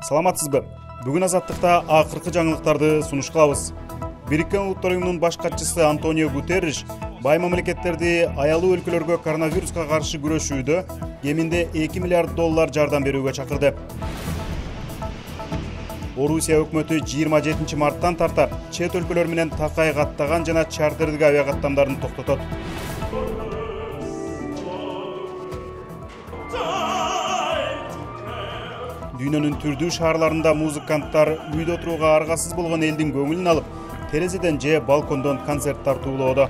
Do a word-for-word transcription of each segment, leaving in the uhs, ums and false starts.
Саламатсызбы? Бүгүн Азаттыкта акыркы жаңылыктарды сунуш кылабыз. Бириккен Улуттар уюмунун баш катчысы Антонио Гутерриш бай мамлекеттерди аялуу өлкөлөргө коронавируска каршы күрөшүүдө кеминде эки миллиард доллар жардам берүүгө чакырды. Орусия өкмөтү жыйырма жетинчи марттан тарта чет өлкөлөр менен такай каттаган жана чартердик авиа каттамдарын токтотот. Дүйнөнүн түрдүү шаарларында музыканттар үйдө отурууга аргасыз болгон элдин көңүлүн алып, терезеден же балкондон концерт тартуулоодо.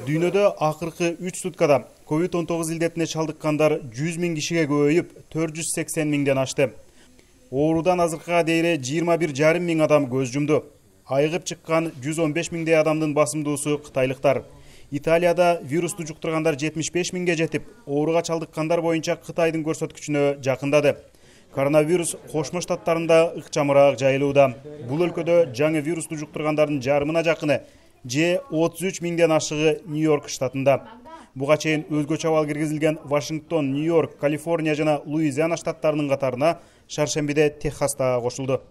Дүйнөдө акыркы үч суткада ковид он тогуз илдетине чалдыккандар жүз миң кишиге көбөйүп, төрт жүз сексен миңден ашты. Оорудан азыркыга дейре жыйырма бир жарым миң адам көз жумду. Айыгып чыккан жүз он беш миңдей адамдын басымдуусу кытайлыктар. Италияда вирусту жуктургандар жетимиш беш миңге жетип, ооруга чалдыккандар боюнча Кытайдын көрсөткүчүнө жакындады. Коронавирус Кошмо Штаттарында ыкчамыраак жайылууда. Бул өлкөдө жаңы вирусту жуктургандардын жарымына жакыны же отуз үч миңден ашыгы Нью-Йорк штатында. Буга чейин өзгөчө абал киргизилген Вашингтон, Нью-Йорк, Калифорния жана Луизиана штаттарынын катарына шаршембиде Техас да кошулду.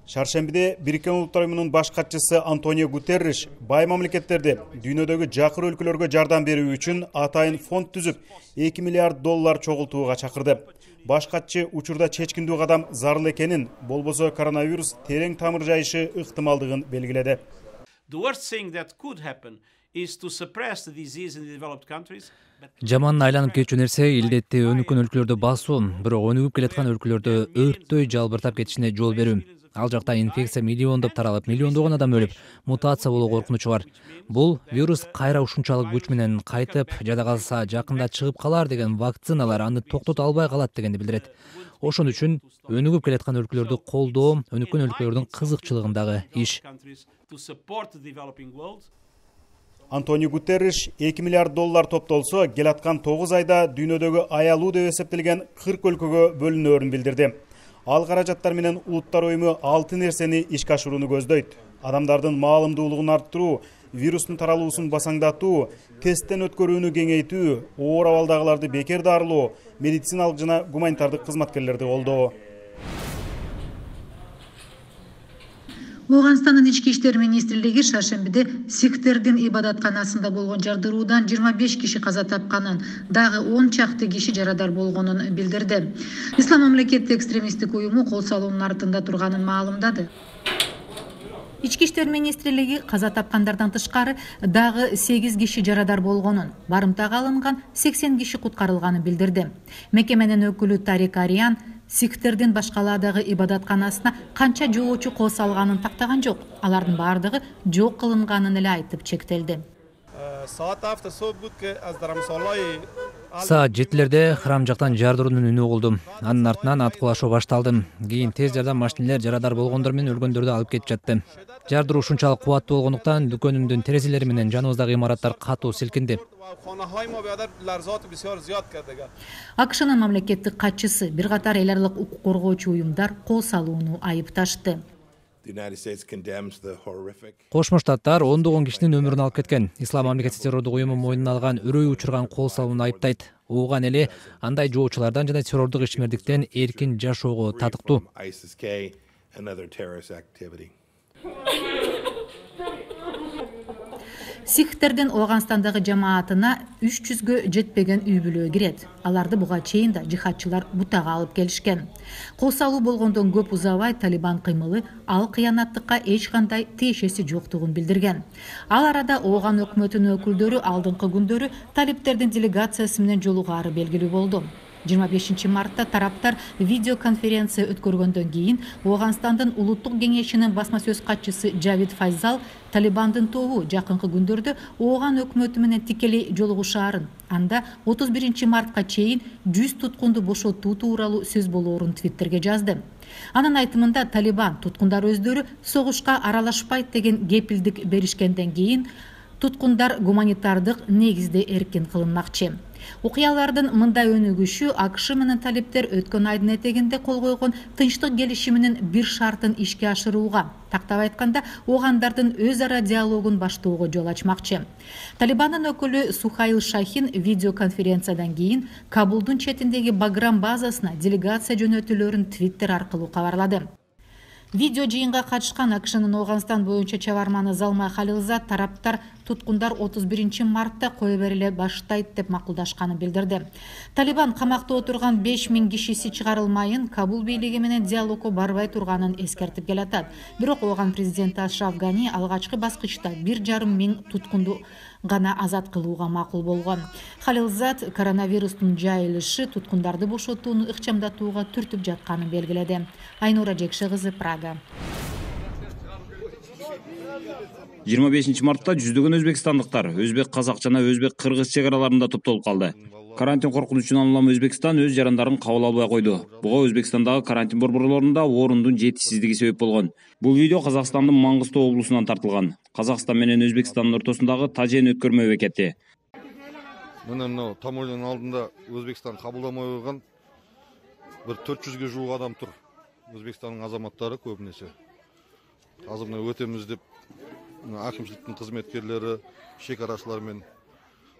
Шаршембиде Бириккен Улуттар уюмунун баш катчысы Антонио Гутерриш бай мамлекеттерди дүйнөдөгү жакыр өлкөлөргө жардам берүү үчүн атайын фонд түзүп, эки миллиард доллар чогултууга чакырды. Баш катчы учурда чечкиндүү кадам зарыл экенин, болбосо коронавирус терең тамыр жайышы ыктымалдыгын белгиледи. Жаман айланып кетчү нерсе илдетти өнүккөн өлкөлөрдө басуу, бирок өнүгүп келаткан өлкөлөрдө өрттөй жалбыртап кетишине жол берүү. Ал жакта инфекция миллиондоп таралып, миллиондогон адам өлүп, мутация болуу коркунучу бар. Бул вирус кайра ушунчалык күч менен кайтып, жада калса жакында чыгып калар деген вакциналар аны токтото албай калат дегенди билдирет. Ошон үчүн өнүгүп келаткан өлкөлөрдү колдоо өнүккөн өлкөлөрдүн кызыкчылыгындагы иш. Антонио Гутерриш эки миллиард доллар топтолсо, келаткан тогуз айда дүйнөдөгү аялуу деп эсептелген кырк өлкөгө бөлүнөөрүн билдирди. Ал каражаттар менен Улуттар уюму алты нерсени ишке ашырууну көздөйт. Адамдардын маалымдуулугун арттыруу, вирустун таралуусун басаңдатуу, тесттен өткөрүүнү кеңейтүү, оор абалдагыларды бекер дарылоо, медициналык жана гуманитардык кызматкерлерди колдоо. Ооганстандын ички иштер министрлиги шаршембиде сикхтердин ибадатканасында болгон жардыруудан жыйырма беш киши каза тапканын, дагы он чакты киши жарадар болгонун билдирди. Ислам мамлекеттик экстремисттик уюму кол салуунун артында турганын маалымдады. Ички иштер министрлиги каза тапкандардан тышкары дагы сегиз киши жарадар болгонун, барымтага алынган сексен киши куткарылганын билдирди. Мекеменин өкүлү Тарик Ариан сикхтердин башкалаадагы ибадатканасына канча жоочу кол салганын тактаган жок. Алардын баардыгы жок кылынганын эле айтып чектелди. Саат жетилерде храм жактан жардыруунун үнү угулду. Анын артынан аткылашуу башталды. Кийин тез жардам машинелер жарадар болгондор менен өлгөндөрдү алып кетип жатты. Жардыруу ушунчалык кубаттуу болгондуктан дүкөнүмдүн терезелери менен жаныбыздагы имараттар катуу силкинди. АКШнын мамлекеттик катчысы бир катар эл аралык укук коргоочу уюмдар кол салууну айыпташты. Кошмо Штаттар ондогон кишинин өмүрүн алып кеткен. Ислам мамлекети террордук уюму мойнуна алган өрөй учурган кол салууну айыптайт. Ууган эли андай жоочулардан жана террордук ишмердиктен эркин жашоого татыктуу. Сикхтердин Ооганстандагы жамаатына үч жүзгө жетпеген үй бүлө кирет. Аларды буга чейин да жихадчылар бутага алып келишкен. Кол салуу болгондон көп узабай Талибан кыймылы ал кыянаттыкка эч кандай тиешеси жоктугун билдирген. Ал арада Ооган өкмөтүнүн өкүлдөрү алдыңкы күндөрү талиптердин делегациясы менен жолугаары белгилүү болду. жыйырма бешинчи мартта тараптар видеоконференция өткөргөндөн кийин Ооганстандын улуттук кеңешинин басма сөз катчысы Джавид Файзал Талибандын тобу жакынкы күндөрдө Ооган өкмөтү менен тикелей жолугушаарын, анда отуз биринчи мартка чейин жүз туткунду бошотуу тууралуу сөз болоорун Твиттерге жазды. Анын айтымында Талибан туткундар өздөрү согушка аралашпайт деген кепилдик беришкенден кийин Туткундар гуманитардык негизде эркин кылынмакчы. Окуялардын мындай өнүгүшү АКШ менен талиптер өткөн айдын этегинде кол койгон тынчтык келишиминин бир шартын ишке ашырууга, тактап айтканда, оогандардын өз ара диалогун баштоого жол ачмакчы. Талибандын өкүлү Сухаил Шахин видеоконференциядан кийин Кабулдун четиндеги Баграм базасына делегация жөнөтүүлөрүн Твиттер аркылуу кабарлады. Видео жыйынга катышкан АКШнын Ооганстан боюнча чабарманы Залмай Халилзад тараптар туткундар отуз биринчи мартта кое бериле баштайт деп макулдашканын билдирди. Талибан камакта отурган беш миң кишиси чыгарылмайын Кабул бийлиги менен диалогко барбай турганын эскертип келатат. Бирок Ооган президенти Ашраф Гани алгачкы баскычта бир жарым миң туткунду гана азат кылууга макул болгон. Халилзад коронавирустун жайылышы туткундарды бошотууну ыкчамдатууга түртүп жатканын белгиледи. Айнура Жекше кызы, Прага. жыйырма бешинчи мартта жүздөгөн өзбекстандыктар өзбек казак жана өзбек кыргыз чек араларында топтолуп калды. Карантин коркунучунан улам Өзбекстан өз жарандарын кабыл албай койду. Буга Өзбекстандагы карантин борборлорунда орундун жетишсиздиги себеп болгон. Бул видео Казакстандын Маңгыстоо облусунан тартылган. Казакстан менен Өзбекстандын ортосундагы Тажен өткөрмө бекети. Мына мына таможнянын алдында Өзбекстан кабылдамай койгон бир төрт жүзгө жуuk адам тур. Өзбекстандын азаматтары көбүнесе. Азыр мына өтөмүз деп акимчиликтин кызметкерлери, шек арачылар менен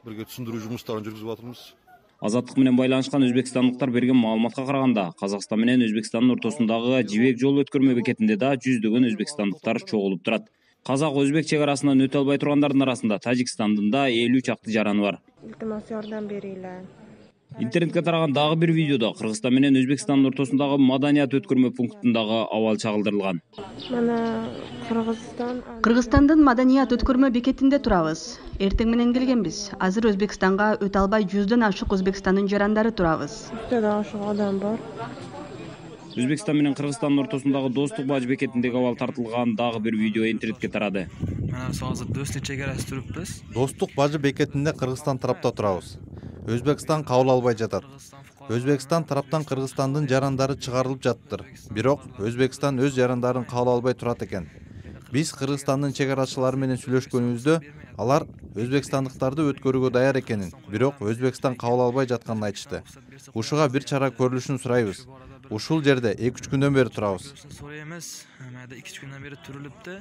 бирге түшүндүрүү жумуштарын жүргүзүп атырмыз. Азаттык менен байланышкан өзбекстандыктар берген маалыматка караганда, Казакстан менен Өзбекстандын ортосундагы Жибек жол өткөрмө бекетинде да жүздөгөн өзбекстандыктар чогулуп турат. Казак-өзбек чек арасынан өтө албай тургандардын арасында Тажикстандын да элүү чакты жараны бар. Илтимас жардам берилер. Интернетке тараган дагы бир видеодо Кыргызстан менен Өзбекстандын ортосундагы маданият өткөрмө пунктундагы абал чагылдырылган. Мана Кыргызстан Кыргызстандын маданият өткөрмө бекетинде турабыз. Эртең менен келгенбиз. Азыр Өзбекстанга өтө албай жүздөн ашык Өзбекстандын жарандары турабыз. Өтө ашык адам бар. Өзбекстан менен Кыргызстандын ортосундагы достук баж бекетиндеги абал тартылган дагы бир видео интернетке тарады. Мына азыр достук чек арасында туруппуз. Достук бажы бекетинде Кыргызстан тарапта турабыз. Өзбекстан кабыл албай жатат. Өзбекстан тараптан Кыргызстандын жарандары чыгарылып жаттыр. Бирок Өзбекстан өз жарандарын кабыл албай турат экен. Биз Кыргызстандын чек арачылары менен сүйлөшкөнүбүздө алар өзбекстандыктарды өткөрүүгө даяр экенин, бирок Өзбекстан кабыл албай жатканын айтышты. Ушуга бир чара көрүлүшүн сурайбыз. Ушул жерде эки үч күндөн бери турабыз. эки үч күндөн бери турулупту.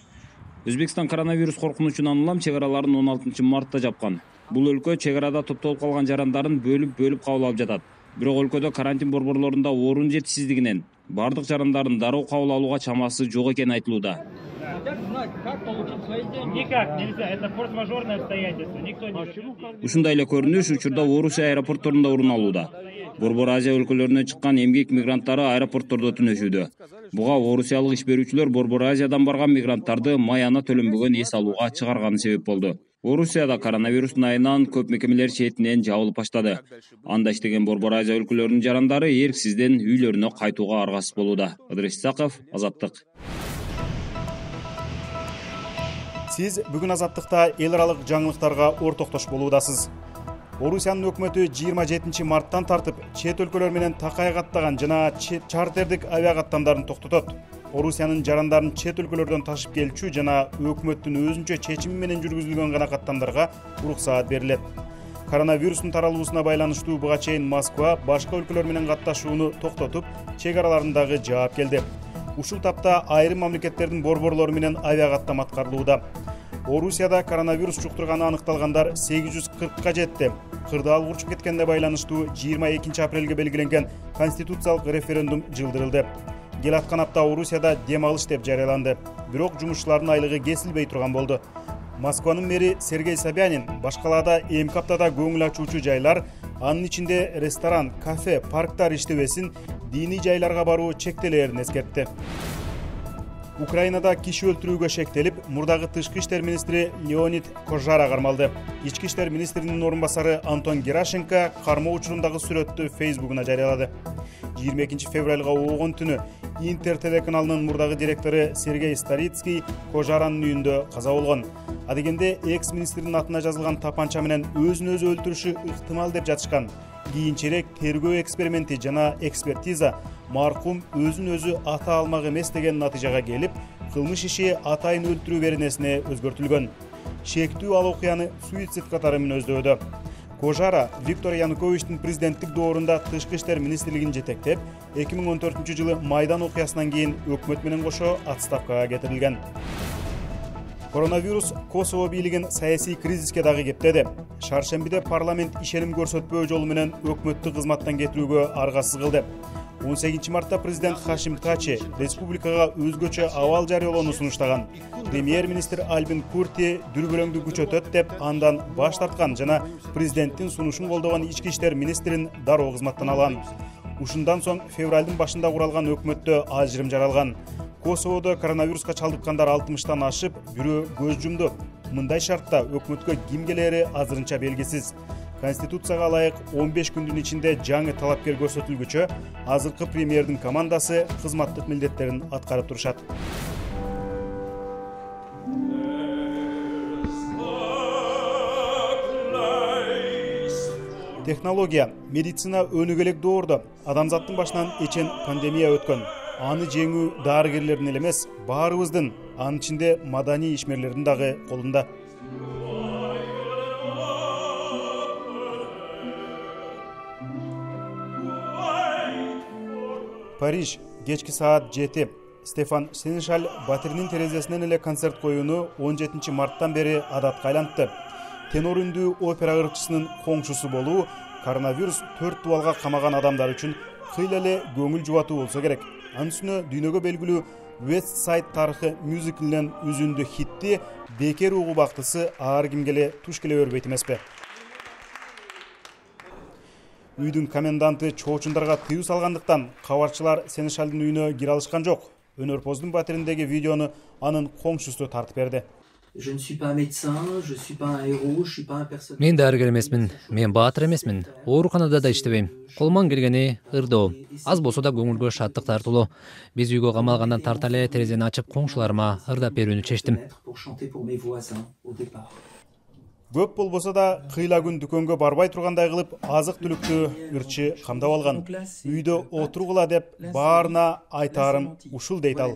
Өзбекстан коронавирус коркунучунан улам чек араларын он алтынчы мартта жапкан. Бул өлкө чек арада топтолуп калган жарандарын бөлүп-бөлүп кабыл алып жатат. Бирок өлкөдө карантин борборлорунда орун жетишсиздигинен бардык жарандарын дароо кабыл алууга чамасы жок экени айтылууда. Никак нельзя, это форс-мажорное обстоятельство. Никто не... Ушундай эле көрүнүш учурда Орусия аэропортторунда орун алууда. Борбор Азия өлкөлөрүнөн чыккан эмгек мигранттары аэропорттордо түнөшүүдө. Буга орусиялык иш берүүчүлөр Борбор Азиядан барган мигранттарды маяна төлөнбөгөн эс алууга чыгарганы себеп болду. Орусияда коронавирустун айынан көп мекемелер четинен жабылып баштады. Анда иштеген Борбор Азия өлкөлөрүнүн жарандары эрксизден үйлөрүнө кайтууга аргасыз болууда. Ыдырыс Исаков, Азаттык. Сиз бүгүн Азаттыкта эл аралык жаңылыктарга ортоктош болуудасыз. Орусиянын өкмөтү жыйырма жетинчи марттан тартып чет өлкөлөр менен такай каттаган жана чартердик авиакаттамдарын токтотот. Орусиянын жарандарын чет өлкөлөрдөн ташып келчү жана өкмөттүн өзүнчө чечими менен жүргүзүлгөн гана каттамдарга уруксаат берилет. Коронавирустун таралуусуна байланыштуу буга чейин Москва башка өлкөлөр менен катташууну токтотуп, чек араларындагы жаап келди. Ушул тапта айрым мамлекеттердин борборлору менен авиакаттам аткарылууда. Орусияда коронавирус жуктурганы аныкталгандар сегиз жүз кыркка жетти. Кырдаал урчуп кеткенде байланыштуу жыйырма экинчи апрелге белгиленген конституциялык референдум жылдырылды. Кел аткан апта Орусияда дем алыш деп жарыяланды. Бирок жумушчулардын айлыгы кесилбей турган болду. Москванын мэри Сергей Собянин башкалаада эмки аптада көңүл ачуучу жайлар, анын ичинде ресторан, кафе, парктар иштебесин, диний жайларга баруу чектелерин эскертти. Украинада киши өлтүрүүгө шектелип, мурдагы тышкы иштер министри Леонид Кожара кармалды. Ички иштер министринин орун басары Антон Герашенко кармоо учурундагы сүрөттү Фейсбугуна жарыялады. жыйырма экинчи февралга оогон түнү Интер телеканалынын мурдагы директору Сергей Старицкий Кожаранын үйүндө каза болгон. Адегенде экс-министрдин атына жазылган тапанча менен өзүн өзү өлтүрүшү ыктымал деп жатышкан. Кийинчерээк тергөө эксперименти жана экспертиза маркум өзүн өзү ата алмак эмес деген натыйжага келип, кылмыш иши атайын өлтүрүү беренесине өзгөртүлгөн. шектүү ал окуяны суицид катары мүнөздөдү. Кожара Виктор Януковичтин президенттик доорунда Тышкы иштер министрлигин жетектеп, эки миң он төртүнчү жылы Майдан окуясынан кийин өкмөт менен кошо отставкага кетирилген. Коронавирус Косово бийлигин саясий кризиске дагы кептеди. Шаршембиде парламент ишеним көрсөтпөө жолу менен өкмөттү кызматтан кетирүүгө аргасыз кылды. он сегизинчи мартта президент Хашим Тачи республикага өзгөчө абал жарыялоону сунуштаган. Премьер-министр Альбин Курти дүрбөлөңдү күчөтөт деп андан баш тарткан жана президенттин сунушун колдогон ички иштер министрин дароо кызматтан алган. Ушундан соң февралдын башында куралган өкмөттө ажырым жаралган. Косоводо коронавируска чалдыккандар алтымыштан ашып, бирөө көз жумду. Мындай шартта өкмөткө ким келери азырынча белгисиз. Конституцияга ылайык он беш күндүн ичинде жаңы талапкер көрсөтүлгүчө, азыркы премьердин командасы кызматтык милдеттерин аткарып турушат. Технология, медицина өнүгөлөк доордо. Адамзаттын башынан эчен пандемия өткөн. Аны жеңүү дарыгерлердин эле эмес, баарыбыздын, анын ичинде маданий ишмерлердин дагы колунда. Париж, кечки саат жети. Стефан Сенешаль батиринин терезесинен эле концерт коюуну он жетинчи марттан бери адатка айлантты. Тенор үндүү опера ырчысынын коңшусу болуу коронавирус төрт дубалга камаган адамдар үчүн кыйла эле көңүл жубатуу болсо керек. Анын үстүнө дүйнөгө белгилүү West Side тарыхы мюзиклинен үзүндү хитти бекер угубактысы ар кимге эле туш келе бербейт эмеспи? Үйдүн коменданты чоочундарга тыюу салгандыктан кабарчылар Сенешалдын үйүнө кире алышкан жок. Өнөрпоздун батириндеги видеону анын коңшусу тартып берди. Мен дарыгер эмесмин, мен баатыр эмесмин, ооруканада да иштебейм. Колуман келгени ырдоо, аз болсо да көңүлгө шаттык тартуулоо. Биз үйгө камалгандан тарта эле терезени ачып коңшуларыма ырдап берүүнү чечтим. Көп болбосо да кыйла күн дүкөнгө барбай тургандай кылып азык түлүктү ырчы камдап алган. Үйдө отургула деп баарына айтаарым ушул дейт ал.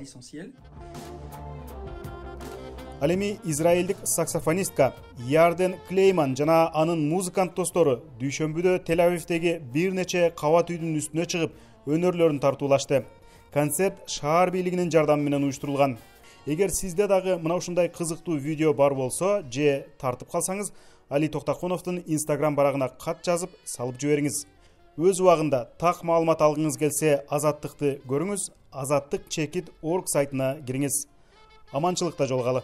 Ал эми израилдик саксофонистка Ярден Клейман жана анын музыкант достору дүйшөмбүдө Тель-Авивдеги бир нече кабат үйдүн үстүнө чыгып өнөрлөрүн тартуулашты. Концерт шаар бийлигинин жардамы менен уюштурулган. Эгер сизде дагы мына ушундай кызыктуу видео бар болсо же тартып калсаңыз, Али Токтоконовдун Instagram барагына кат жазып салып жибериңиз. Өз убагында так маалымат алгыңыз келсе, Азаттыкты көрүңүз, азаттык чекит точка орг сайтына кириңиз. Аманчылыкта жолугалы.